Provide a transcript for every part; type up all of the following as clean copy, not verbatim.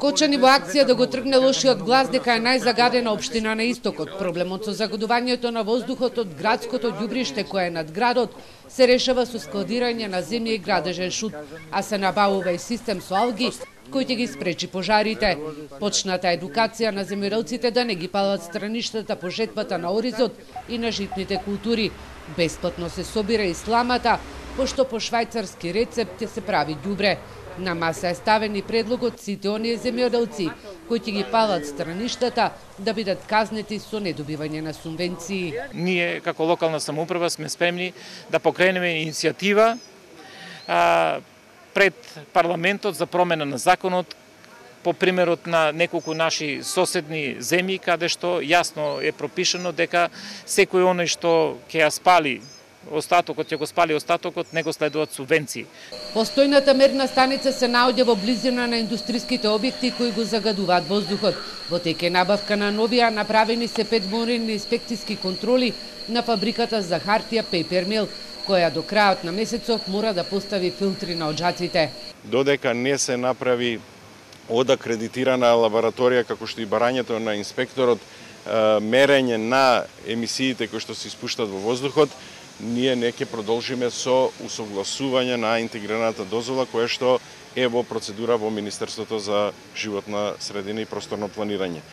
Кочани во акција да го тргне лошиот глас дека е најзагадена општина на истокот. Проблемот со загадувањето на воздухот од градското ѓубриште кое е над градот се решава со складирање на земја и градежен шут, а се набавува и систем со алги кој ќе ги спречи пожарите. Почната едукација на земјоделците да не ги палат страништата по жетвата на оризот и на житните култури. Бесплатно се собира и сламата, пошто по швајцарски рецепт ќе се прави ѓубре. На маса е ставен и предлогот сите оние земјоделци кои ќе ги палат страништата да бидат казнети со недобивање на субвенции. Ние како локална самоуправа сме спремни да покренеме иницијатива пред парламентот за промена на законот по примерот на неколку наши соседни земји каде што јасно е пропишано дека секој оној што ќе ја спали остатокот, ќе го спали остатокот, не го следуваат субвенции. Постојната мерна станица се наоѓа во близина на индустријските објекти кои го загадуваат воздухот. Во тек е набавка на новија, направени се 5 дневни инспекцијски контроли на фабриката за хартија Paper Mill, која до крајот на месецов мора да постави филтри на оџаците. Додека не се направи од акредитирана лабораторија како што и барањето на инспекторот, мерење на емисиите кои што се испуштат во воздухот, ние не ќе продолжиме со усогласување на интегрираната дозвола која што е во процедура во Министерството за животна средина и просторно планирање.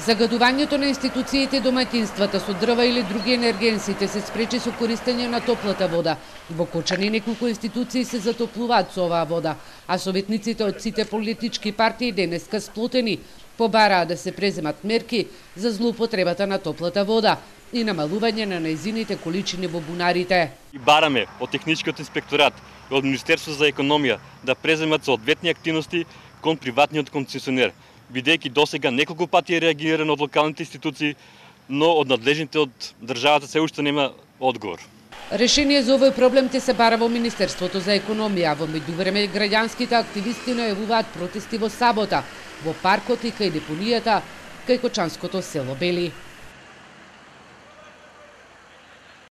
Загадувањето на институциите и домаќинствата со дрва или други енергенсите се спречи со користење на топлата вода. Во Кочани неколку институции се затоплуваат со оваа вода, а советниците од сите политички партии денеска сплотени побараа да се преземат мерки за злоупотребата на топлата вода и намалување на нејзините количини во бунарите. И бараме од Техничкиот инспекторат и од Министерството за економија да преземат соодветни активности кон приватниот концесионер, бидејќи досега неколку пати е реагирано од локалните институции, но од надлежните од државата се уште нема одговор. Решение за овој проблем ќе се бара во Министерството за економија. Во меѓувреме граѓанските активисти најавуваат протести во сабота во паркот и кај депонијата кај Кочанското село Бели.